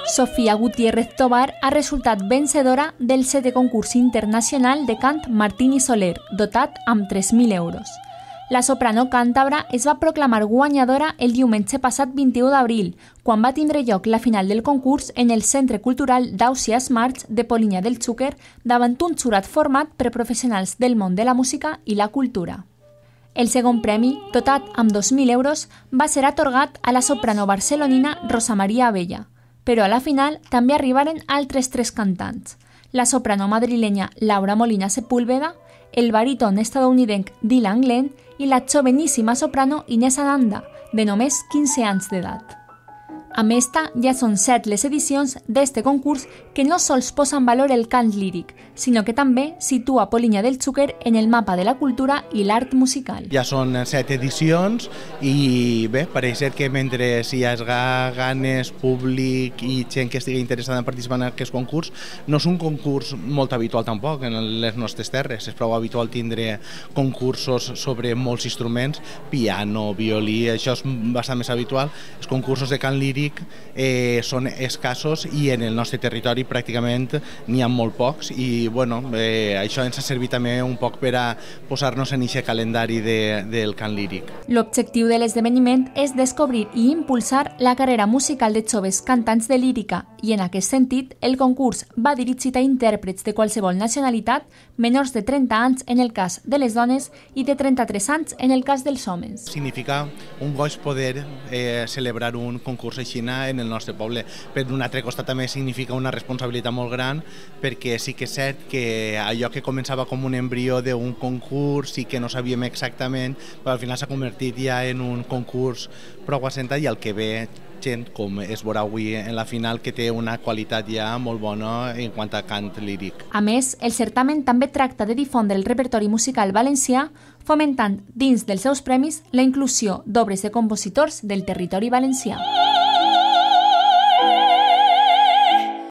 Sofía Gutiérrez Tobar ha resultat vencedora del 7è concurs internacional de cant Martín i Soler, dotat amb 3.000 euros. La soprano càntabra es va proclamar guanyadora el diumenge passat 21 d'abril, quan va tindre lloc la final del concurs en el Centre Cultural d'Ausiàs March de Polinyà del Xúquer davant un jurat format per professionals del món de la música i la cultura. El segon premi, dotat amb 2.000 euros, va ser atorgat a la soprano barcelonina Rosa Maria Abella, però a la final també arribaren altres 3 cantants, la soprano madrilenya Laura Molina Sepúlveda, el baríton estadounidenc Dylan Glenn i la joveníssima soprano Inés Ananda, de només 15 anys d'edat. Amb esta, ja són 7 les edicions d'este concurs que no sols posa en valor el cant líric, sinó que també situa Polinyà del Xúquer en el mapa de la cultura i l'art musical. Ja són 7 edicions i bé, pareix ser que mentre hi hagi ganes, públic i gent que estigui interessada en participar en aquest concurs, no és un concurs molt habitual tampoc en les nostres terres. És prou habitual tindre concursos sobre molts instruments, piano, violí, això és bastant més habitual. Els concursos de cant líric són escassos i en el nostre territori pràcticament n'hi ha molt pocs i bueno, això ens ha servit també un poc per a posar-nos en aquest calendari del cant líric. L'objectiu de l'esdeveniment és descobrir i impulsar la carrera musical de joves cantants de lírica i en aquest sentit el concurs va dirigit a intèrprets de qualsevol nacionalitat, menors de 30 anys en el cas de les dones i de 33 anys en el cas dels homes. Significa un goig poder celebrar un concurs així en el nostre poble. Per un altre costat també significa una responsabilitat molt gran perquè sí que és cert que allò que començava com un embrió d'un concurs i que no sabíem exactament, però al final s'ha convertit ja en un concurs prou assentat i el que ve gent, com es veurà avui en la final, que té una qualitat ja molt bona en quant a cant líric. A més, el certamen també tracta de difondre el repertori musical valencià, fomentant dins dels seus premis la inclusió d'obres de compositors del territori valencià.